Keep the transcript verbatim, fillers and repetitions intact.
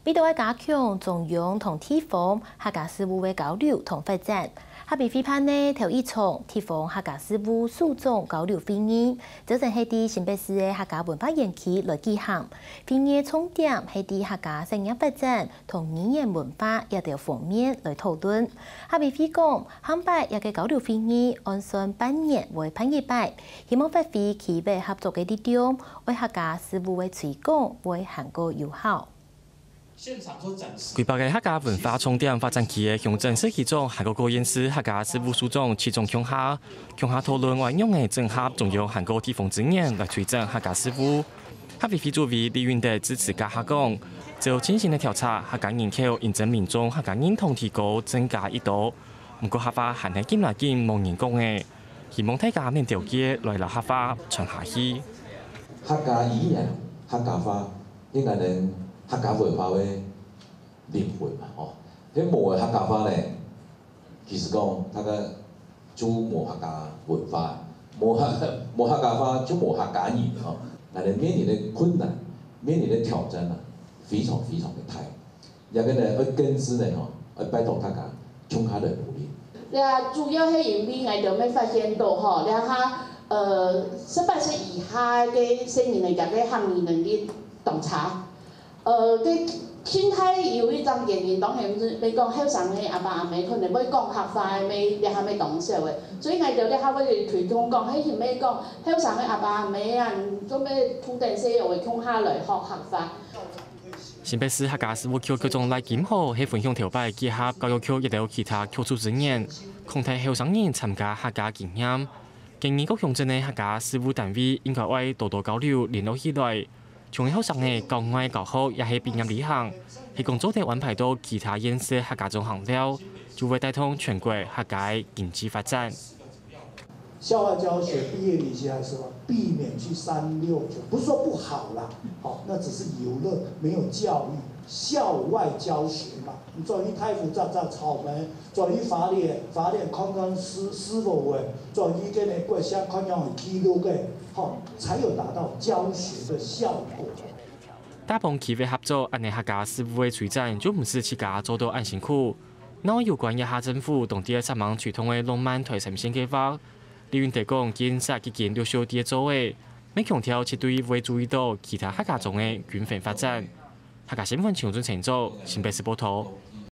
為著愛加強中央同地方客家事務个交流同發展，客委會辦个頭一場地方客家事務首長交流會議，朝晨係在新北市个客家文化園區來舉行。會議个重點係在客家產業發展同語言文化這兜方面來討論。客委會講，下擺這个交流會議按算半年會辦一擺，希望發揮區域合作个力量，為客家事務个推廣會還過有效。 規劃个客家文化重點發展區个鄉鎮市區長還過各縣市客家事務首長集中共下，共下討論愛仰仔整合中央還過地方資源來推展客家事務。客委會主委李允德致詞該下講，照最新个調查，客家人口因爭民眾客家認同提高增加已多，毋過客話還係緊來緊無人講个，希望大家免丟棄來摎客話傳下去。客家語言、客家話，係𠊎等客家文化个靈魂嘛，吼。係無个客家話呢，其實講，大家就無客家文化，無客，無客家話就無客家人，吼。𠊎等面臨个困難，面臨个挑戰啊，非常非常个大。 這个呢，愛根治呢，吼，愛拜託大家共下來努力。這主要係因為𠊎兜乜發現到吼，這下，呃，十八歲以下个細人仔，佢个客語能力當差。呃，該現在有一種原因，當然係乜講後生个阿爸阿姆可能會講客話个乜，這下乜當少个。所以𠊎兜這下會推動講，係乜講後生个阿爸阿姆啊，做乜同等細人仔共下來學客話。 新北市客家事務局局長賴金河係分享頭擺結合教育局一兜其他局處資源，擴大後生人參加客家經驗。建議各鄉鎮个客家事務單位應該愛多多交流聯絡起來，像係學生个校外教學也係畢業旅行，係講做得安排到其他縣市客家中學校，就會帶動全國客家个經濟發展。 校外教學、畢業旅行還是什麼，避免去三六九，不是說不好啦，好，那只是遊樂，沒有教育。校外教學嘛，你轉去大湖摘摘草莓，轉去花蓮，花蓮看看獅，獅母尾，轉去該个國小看看記錄个，好，才有達到教學的效果。大幫區域合作，恁呢客家事務个推展，就毋使自家做到恁辛苦。另外有關這下政府當在煞猛推動个浪漫台三線計畫， 李允德講，建設已經陸續在做个，乜強調絕對會注意到其他客家庄个均衡發展。客家新聞陳永俊製作，新北市報導。